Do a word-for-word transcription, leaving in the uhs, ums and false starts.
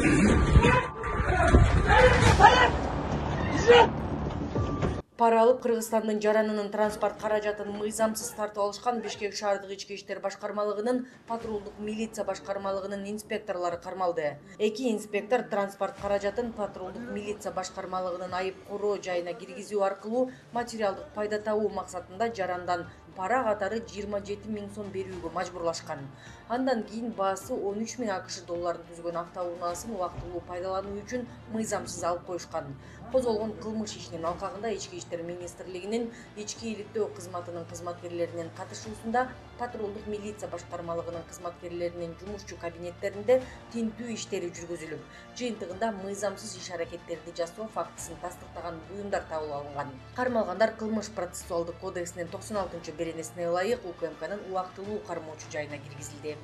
Пара алып Кыргызстандын жаранынын транспорт каражатын мыйзамсыз тартып алышкан Бишкек шаардык ички иштер башкармалыгынын патрулдук милиция башкармалыгынын инспекторлору кармалды. Эки инспектор транспорт каражатын патрулдук милиция башкармалыгынын айып короо жайына киргизүү аркылуу материалдык пайда табуу максатында жарандан пара катары жыйырма жети миң сом берүүгө мажбурлашкан. Андан кийин баасы он үч миң акш долларын түзгөн автоунаасын убактылуу пайдалануу үчүн мыйзамсыз алып коюшкан. Козголгон кылмыш ишинин алкагында Ички иштер министрлигинин ички иликтөө кызматынын кызматкерлеринин катышуусунда патрулдук милиция башкармалыгынын кызматкерлеринин жумушчу кабинеттеринде тинтүү иштери жүргүзүлүп, жыйынтыгында мыйзамсыз иш аракеттерди жасоо фактысын тастыктаган буюмдар табылып алынган. Кармалгандар Кылмыш процессуалдык кодексинин токсон алтынчы беренесине ылайык УКМКнын убактылуу кармоочу жайына киргизилди.